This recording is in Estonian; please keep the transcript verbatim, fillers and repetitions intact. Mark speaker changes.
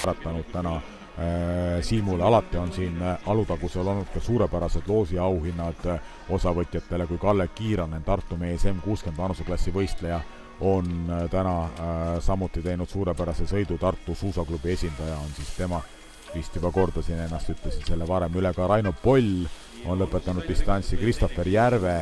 Speaker 1: äratanud täna silmule. Alati on siin Alutagusel olnud ka suurepärased loosi auhinnad osavõtjatele, kui Kalle Kiiranen, Tartu mees, M kuuskümmend vanuseklassi võistleja, on täna samuti teinud suurepärase sõidu. Tartu suusaklubi esindaja on siis tema, vist juba kordasin ennast, ütlesin selle varem üle ka. Raino Poll on lõpetanud distantsi, Christopher Järve